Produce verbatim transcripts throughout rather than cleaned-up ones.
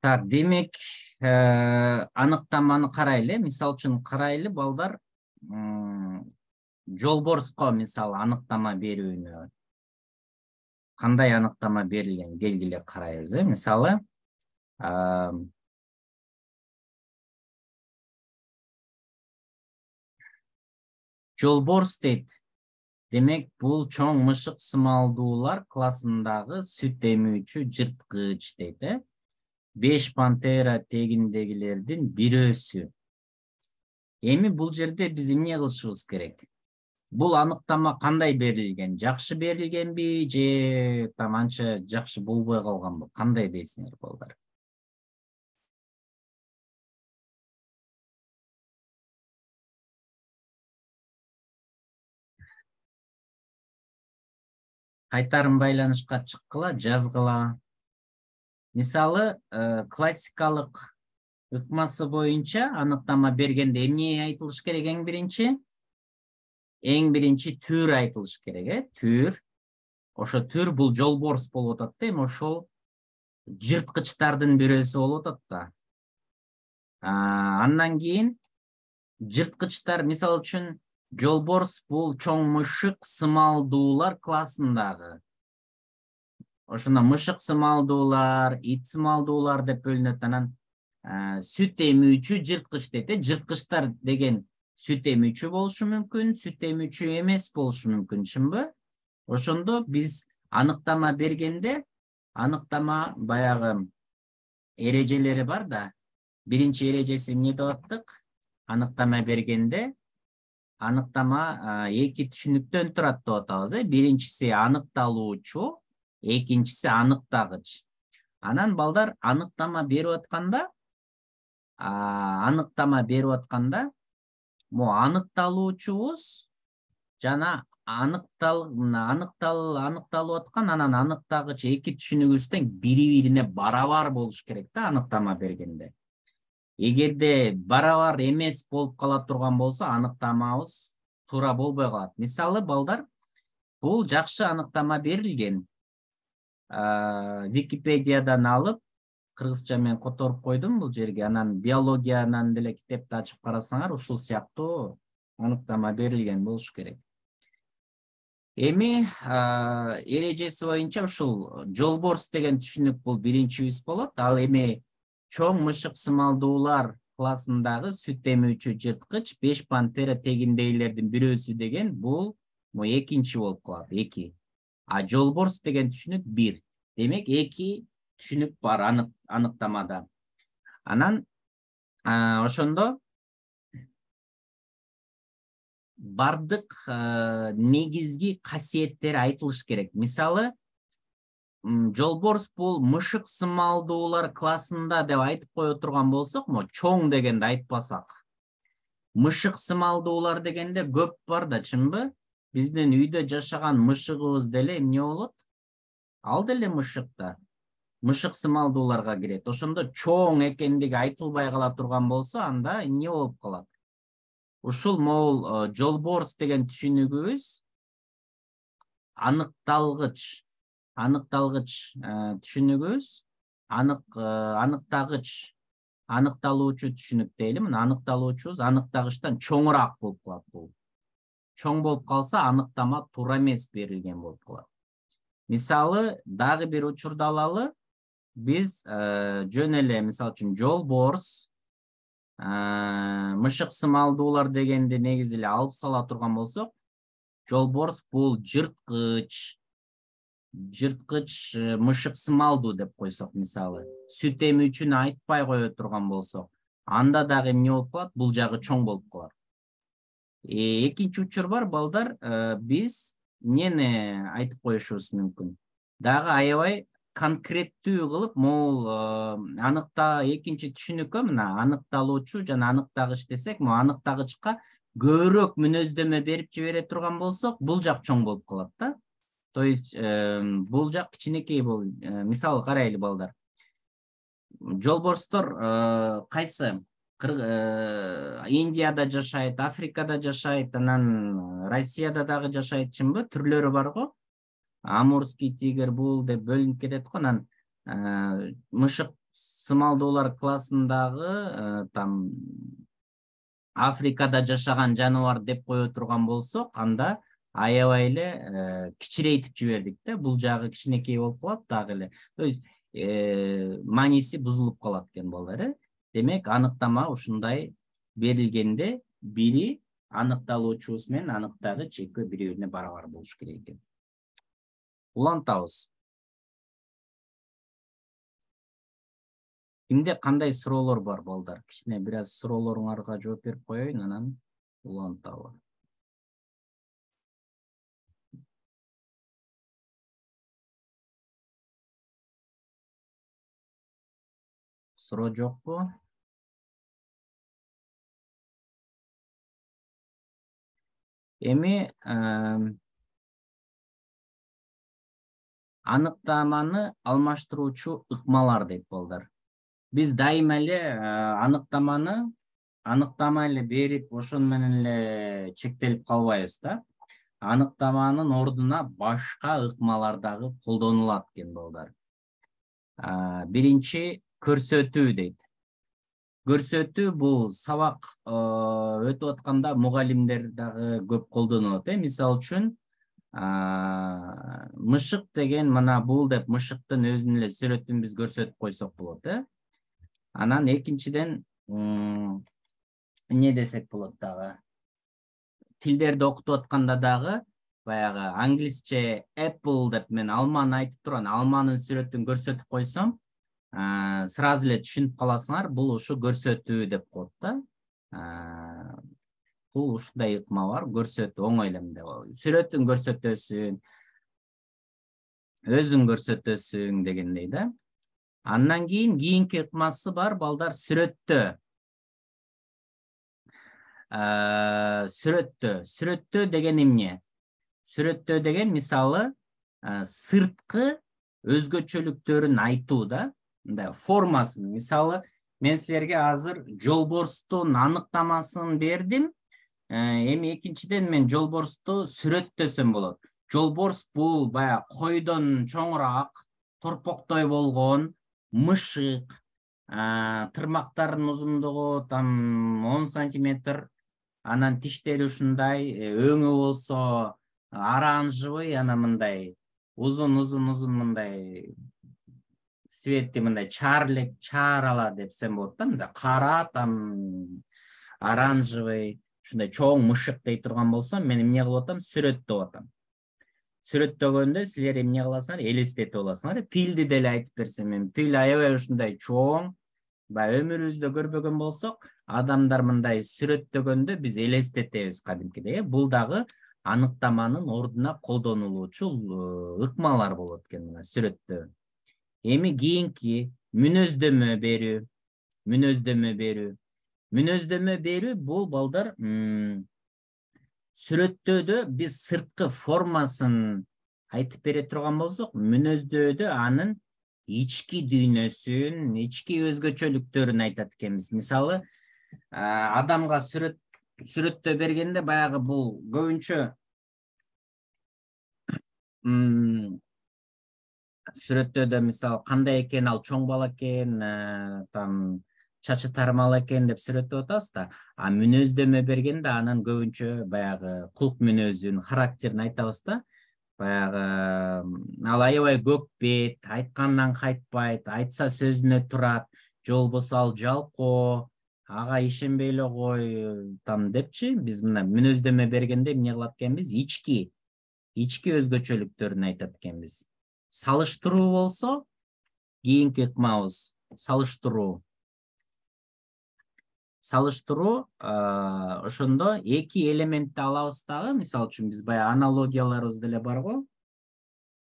Так, демек, аныктаманы карайлы. Мисал үчүн карайлы балдар, жолборско мисалы аныктама берүүнү кандай аныктама берилген келгиле карайбыз, э? Мисалы, жолборс дейт. Демек, бул чоң мышык сымалдуулар классындагы сүт эмүүчү жырткыч дейт, э? Беш пантера тегиндегилердин бирөөсү. Эми бул жерде биз эмне кылышыбыз керек? Бул аныктама кандай берилген? Жакшы берилгенби же там анча жакшы болбой калганбы? Кандай дейсиңер балдар? Кайтарым байланышка чыккыла, жазгыла. Мисалы, классикалык ыкмасы боюнча аныктама бергенде эмне айтылыш керек эң биринчи? Эң биринчи түр айтылыш керек, э? Түр. Ошо түр бул жолборс болуп атат да, эми ошол жырткычтардын бирөөсү болуп атат да. Андан кийин жырткычтар, мисал үчүн, жолборс бул чоң мышык сымалдуулар классындагы. Ошондо мышык сымалдуулар, ит сымалдуулар деп бөлүнөт. Анан сүт эмүүчү жырткыч дейт, э? Жырткычтар деген сүт эмүүчү болушу мүмкүн, сүт эмүүчү эмес болушу мүмкүн, чынбы? Ошондо биз аныктама бергенде, аныктама баягы эрежелери бар да. Биринчи эрежеси эмне деп аттык? Аныктама бергенде аныктама эки түшүнүктөн турат деп атабыз, э? Биринчиси аныкталуучу, экинчиси аныктагыч. Анан балдар аныктама берип атканда, аныктама берип атканда, мо аныкталуучубуз жана аныктал аныктал аныкталып аткан анан аныктагыч эки түшүнүгүбүздөн бири-бирине барабар болуш керек да аныктама бергенде. Эгерде барабар эмес болуп кала турган болсо, аныктамабыз туура болбой калат. Мисалы, балдар, бул жакшы аныктама берилген. Википедиядан алып, кыргызча мен которуп койдум бул жерге. Анан биологиянан деле китепти ачып карасаңар, ушул сыяктуу аныктама берилген болуш керек. Эми эрежеси боюнча ушул жолборс деген түшүнүк бул биринчибиз болот. Ал эми чоң мышык сымалдуулар классындагы сүт эмүүчү жырткыч, беш пантера тегиндейлердин бирөөсү деген бул экинчи болуп калат, эки. А жолборс деген түшүнүк бир. Демек, эки түшүнүк бар аныктамада. Анан ошондо бардык негизги касиеттери айтылыш керек. Мисалы, жолборс бул мышык сымалдуулар классында деп айтып кое турган болсок, мо чоң дегенде айтпасак. Мышык сымалдуулар дегенде көп бар да, чынбы? Биздин үйдө жашаган мышыгыбыз деле эмне болот? Ал деле мышык да. Мышык сымалдууларга кирет. Ошондо чоң экендиги айтылбай кала турган болсо, анда эмне болуп калат? Ушул могул жолборс деген түшүнүгүбүз аныкталгыч аныкталгыч түшүнүгүбүз анык аныктагыч аныкталуучу түшүнүк дейли. Мына аныкталуучубуз аныктагычтан чоңураак болуп калат бул. Чоң болуп калса, аныктама туура эмес берилген болуп калат. Мисалы, дагы бир учурду алалы, биз жөн эле, мисалы үчүн, жолборс, мышык сымалдуулар дегенди негизи эле алып сала турган болсок, жолборс бул жырткыч, жырткыч мышык сымалдуу деп койсок, мисалы, сүт эмүүчүнү айтпай кое турган болсок, анда дагы эмне болуп калат? Бул жагы чоң болуп калат. Экинчи учур бар, балдар, биз эмнени айтып коюшубуз мүмкүн? Дагы аябай конкреттүү кылып, могул аныкта экинчи түшүнүккө, мына аныкталуучу жана аныктагыч десек, могу аныктагычка көбүрөөк мүнөздөмө берип жибере турган болсок, бул жак чоң болуп калат да. То есть бул жак кичинекей болуп, мисалы карайлы балдар. Жолборстор кайсы? Индияда жашайт, Африкада жашайт, анан Россияда дагы жашайт, чынбы? Түрлөрү бар го. Амурский тигр бул деп бөлүнүп кетет го. Анан мышык сымалдуулар классындагы там Африкада жашаган жаныбар деп кое турган болсок, анда аябай эле кичирейтип жибердик да. Бул жагы кичинекей болуп калат дагы эле. То есть мааниси бузулуп калат экен балдар, э? Демек, аныктама ушундай берилгенде бири аныкталуучубуз менен аныктагыч экөө бири-бирине барабар болуш керек экен. Улантабыз. Кимде кандай суроолор бар балдар? Кичине бир аз суроолоруңарга жооп берип коеюн, анан улантабы. Суроо жокпу? Эми аныктаманы алмаштыруучу ыкмалар дейт балдар. Биз дайыма эле аныктаманы аныктама эле берип, ошону менен эле чектелип калбайбыз да. Аныктаманын ордуна башка ыкмалар дагы колдонулат экен балдар. Биринчи көрсөтүү дейт. Көрсөтүү бул сабак өтүп атканда мугалимдер дагы көп колдонот, э? Мисалы үчүн, мышык деген мына бул деп мышыктын өзүнүн эле сүрөтүн биз көрсөтүп койсок болот, э? Анан экинчиден эмне десек болот дагы? Тилдерди окутуп атканда дагы баягы англисче apple деп мен алманы айтып турам, алманын сүрөтүн көрсөтүп койсом, сразу эле түшүнүп каласыңар, бул ушу көрсөтүү деп коет да. Бул ушундай ыкма бар, көрсөтүү оңой эле мындай болот. Сүрөтүн көрсөтөсүң, өзүң көрсөтөсүң дегендей да. Андан кийин кийинки ыкмасы бар балдар, сүрөттөө. Сүрөттөө. Сүрөттөө деген эмне? Сүрөттөө деген мисалы сырткы өзгөчөлүктөрүн айтуу да. Мындай формасын. Мисалы, мен силерге азыр жолборстун аныктамасын бердим. Эми экинчиден мен жолборсту сүрөттөсөм болот. Жолборс бул баягы койдон чоңураак, торпоктой болгон мышык, тырмактарынын узундугу там он сантиметр, анан тиштери ушундай, өңү болсо оранжевый, анан мындай узун-узун узун мындай светти мындай чарлек, чарала депсем болот да, мындай кара, там оранжевый, ушундай чоң мышык дей турган болсом, мен эмне кылып атам? Сүрөттөп атам. Сүрөттөгөндө силер эмне кыласыңар? Элестетип аласыңар. Пилди деле айтып берсем, мен пил аябай ушундай чоң, баягы өмүрүбүздө көрбөгөн болсок, адамдар мындай сүрөттөгөндө биз элестетебиз кадимкидей. Бул дагы аныктаманын ордуна колдонулуучу ыкмалар болот экен, мына сүрөттөө. Эми кийинки мүнөздөмө берүү. Мүнөздөмө берүү. Мүнөздөмө берүү бул балдар сүрөттөөдө биз сырткы формасын айтып бере турган болсок, мүнөздөдө анын ички дүйнөсүн, ички өзгөчөлүктөрүн айтат экенбиз. Мисалы, адамга сүрөт сүрөттөө бергенде баягы бул көбүнчө сүрөттөөдө мисалы кандай экен, ал чоң бала экен, там чачы тармал экен деп сүрөттөп атабыз да. А мүнөздөмө бергенде анын көбүнчө баягы кулк мүнөзүн, характерин айтабыз да. Баягы ал аябай көк бет, айткандан кайтпайт, айтса сөзүнө турат, же болбосо ал жалкоо, ага ишенбей эле кой, там депчи. Биз мына мүнөздөмө бергенде эмне кылат экенбиз? Ички, ички өзгөчөлүктөрүн айтат экенбиз. Салыштыруу болсо, кийинки ыкмабыз салыштыруу. Салыштыруу ошондо эки элементти алабыз дагы, мисалы үчүн биз баягы аналогияларыбыз деле бар го.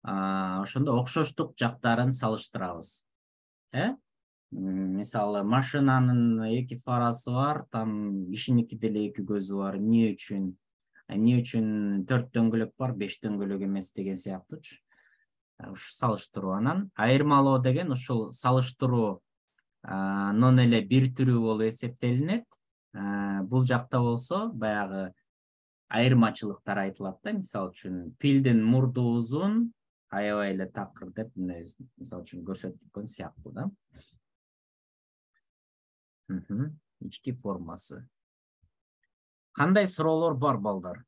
Ошондо окшоштук жактарын салыштырабыз. Э? Мисалы, машинанын эки фарасы бар, там кишиники деле эки көзү бар. Эмне үчүн? Эмне үчүн төрт дөңгөлөк бар, беш дөңгөлөк эмес деген сыяктуучу. Ушу салыштыруу. Анан айырмалоо деген ушул салыштыруу нон эле бир түрү болуп эсептелинет. Бул жакта болсо баягы айырмачылыктар айтылат да. Мисалы үчүн пилдин мурду узун, аябай эле такыр деп мисалы үчүн көрсөтүлгөн сыяктуу да. Ички формасы. Кандай суроолор бар балдар?